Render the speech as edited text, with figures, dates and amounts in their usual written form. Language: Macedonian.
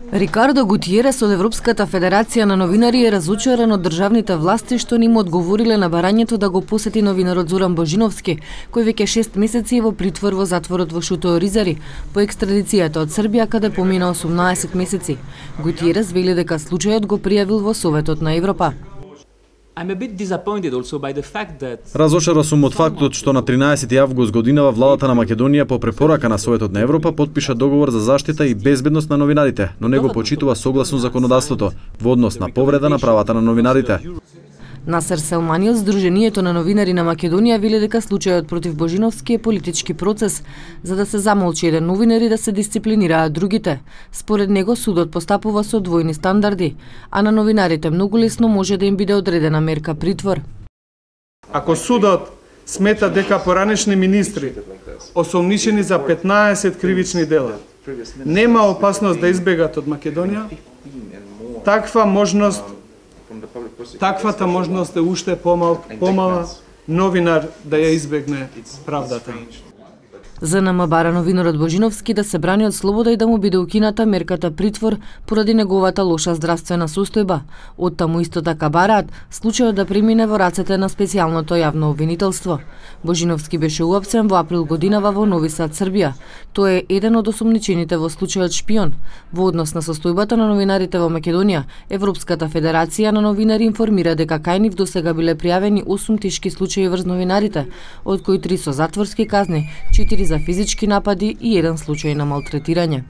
Рикардо Гутиерес од Европската федерација на новинари е разочаран од државните власти што не му одговориле на барањето да го посети новинарот Зоран Божиновски, кој веќе 6 месеци е во притвор во затворот во Шуто Оризари, по екстрадицијата од Србија каде помина 18 месеци. Гутиерес вели дека случајот го пријавил во Советот на Европа. Разочаран сум од фактот што на 13 август годинава владата на Македонија по препорака на Советот на Европа подпиша договор за заштита и безбедност на новинарите, но не го почитува согласно законодавството во однос на повреда на правата на новинарите. Насер Селмани од Сдруженијето на новинари на Македонија вели дека случајот против Божиновски е политички процес, за да се замолчи еден новинар и да се дисциплинираат другите. Според него судот постапува со двојни стандарди, а на новинарите многу лесно може да им биде одредена мерка притвор. Ако судот смета дека поранешни министри, осомничени за 15 кривични дела, нема опасност да избегат од Македонија, таквата можност е уште помала новинар да ја избегне правдата. ЗНМ бара новинарот Божиновски да се брани од слобода и да му биде укината мерката притвор поради неговата лоша здравствена состојба. Оттаму исто така бараат случајот да премине во рацете на специјалното јавно обвинителство. Божиновски беше уапсен во април годинава во Нови Сад, Србија. Тој е еден од осомничените во случајот шпион. Во однос на состојбата на новинарите во Македонија, Европската федерација на новинари информира дека кај нив досега биле пријавени 8 тешки случаи врз новинарите, од кои 3 со затворски казни, 4 за физички напади и 1 случај на малтретирање.